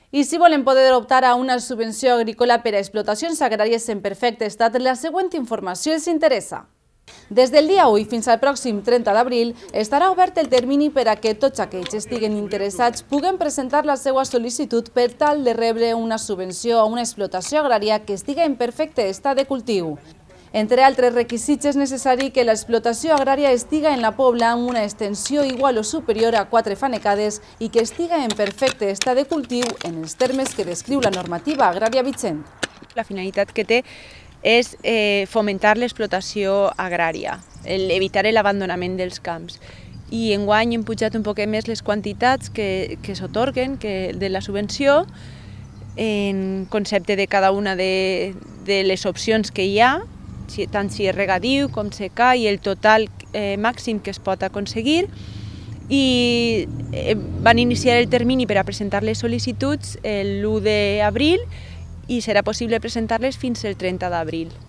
I si volen poder optar a una subvenció agrícola per a explotacions agràries en perfecte estat, la següent informació els interessa. Des del dia 1 fins al pròxim 30 d'abril estarà obert el termini per a que tots aquells que estiguen interessats puguen presentar la seva sol·licitud per tal de rebre una subvenció a una explotació agrària que estiga en perfecte estat de cultiu. Entre altres requisits és necessari que l'explotació agrària estiga en la pobla amb una extensió igual o superior a 4 fanecades i que estiga en perfecte estat de cultiu en els termes que descriu la normativa agrària vigent. La finalitat que té és fomentar l'explotació agrària, evitar l'abandonament dels camps. I enguany hem pujat un poc més les quantitats que s'atorguen de la subvenció en concepte de cada una de les opcions que hi ha, tant si és regadiu com secà i el total màxim que es pot aconseguir. I van iniciar el termini per a presentar les sol·licituds l'1 d'abril i serà possible presentar-les fins al 30 d'abril.